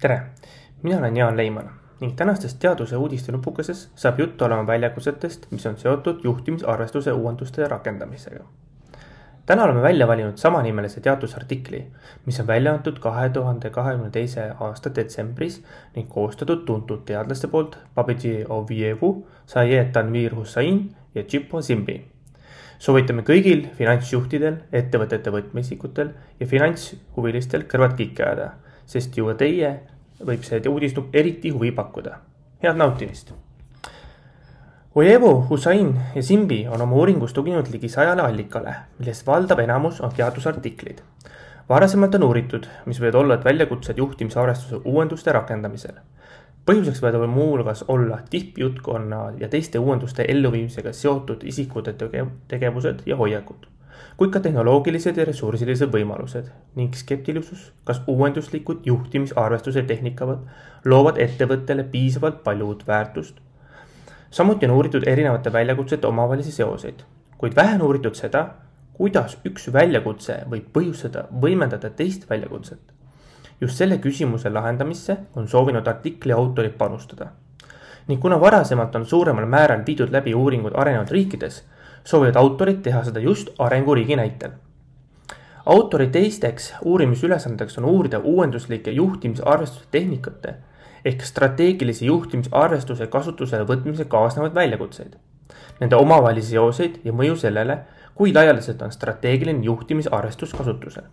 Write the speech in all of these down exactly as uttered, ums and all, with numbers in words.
Tere, mina olen Jaan Leiman ning tänastest teaduse uudiste nupukeses saab juttu olema väljakutsetest, mis on seotud juhtimisarvestuse uuenduste rakendamisega. Täna oleme välja valinud samanimelise teadusartikli, mis on välja antud kahe tuhande kahekümne teise aasta detsembris ning koostatud tuntud teadlaste poolt Babiji Ovievu, Sayed Tanvir Hussain ja Chippo Zimbi. Soovitame kõigil finantsjuhtidel, ettevõtete võtmeisikutel ja finantshuvilistel kõrvad kikki ajada, sest ju teie võib see uudisnuk eriti huvi pakkuda. Head nautimist! Ojevo, Hussain ja Zimbi on oma uuringus tuginud ligi sajale allikale, millest valdav enamus on teadusartiklid. Varasemalt on uuritud, mis võivad olla väljakutsed juhtimisarvestuse uuenduste rakendamisel. Põhjuseks võivad muu hulgas olla tippjutkonna ja teiste uuenduste elluviimisega seotud isikute tegevused ja hoiakud, kuid ka tehnoloogilised ja ressursilised võimalused ning skeptilisus, kas uuenduslikud juhtimisarvestuse tehnikavad loovad ettevõttele piisavalt palju uut väärtust. Samuti on uuritud erinevate väljakutsete omavahelisi seoseid, kuid vähe on uuritud seda, kuidas üks väljakutse võib põhjustada võimendada teist väljakutset. Just selle küsimuse lahendamisse on soovinud artikli autorid panustada. Ning kuna varasemalt on suuremal määral viidud läbi uuringud arenenud riikides, soovivad autorid teha seda just arenguriigi näitel. Autori teisteks uurimisülesandeks on uurida uuenduslike juhtimisarvestuse tehnikate ehk strateegilise juhtimisarvestuse kasutusele võtmise kaasnevad väljakutseid, nende omavahelisi seoseid ja mõju sellele, kui laialdaselt on strateegiline juhtimisarvestus kasutusel.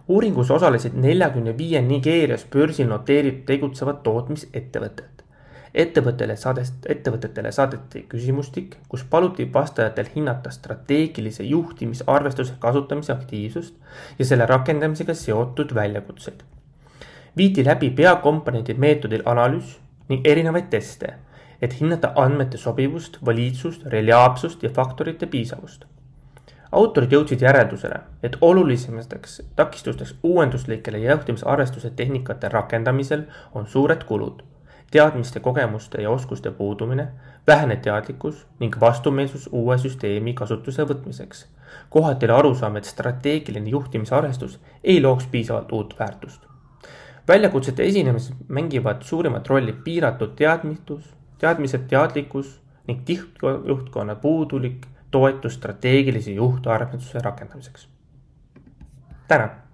Uuringus osalesid neljakümne viie Nigeerias börsil noteeritud tegutsevad tootmisettevõtted. Ettevõttele saadest, ettevõtetele saadeti küsimustik, kus paluti vastajatel hinnata strateegilise juhtimisarvestuse kasutamise aktiivsust ja selle rakendamisega seotud väljakutseid. Viidi läbi peakomponentid meetodil analüüs ning erinevaid teste, et hinnata andmete sobivust, valiidsust, reliaapsust ja faktorite piisavust. Autorid jõudsid järeldusele, et olulisemateks takistusteks uuenduslikele juhtimisarvestuse tehnikate rakendamisel on suured kulud, teadmiste, kogemuste ja oskuste puudumine, vähene teadlikkus ning vastumeelsus uue süsteemi kasutuse võtmiseks. Kohati oli arusaam, et strateegiline juhtimisarvestus ei looks piisavalt uut väärtust. Väljakutsete esinemises mängivad suurimat rolli piiratud teadmitus, teadmised, teadlikkus ning tihtjuhtkonna puudulik toetus strateegilise juhtarvestuse rakendamiseks. Tänan!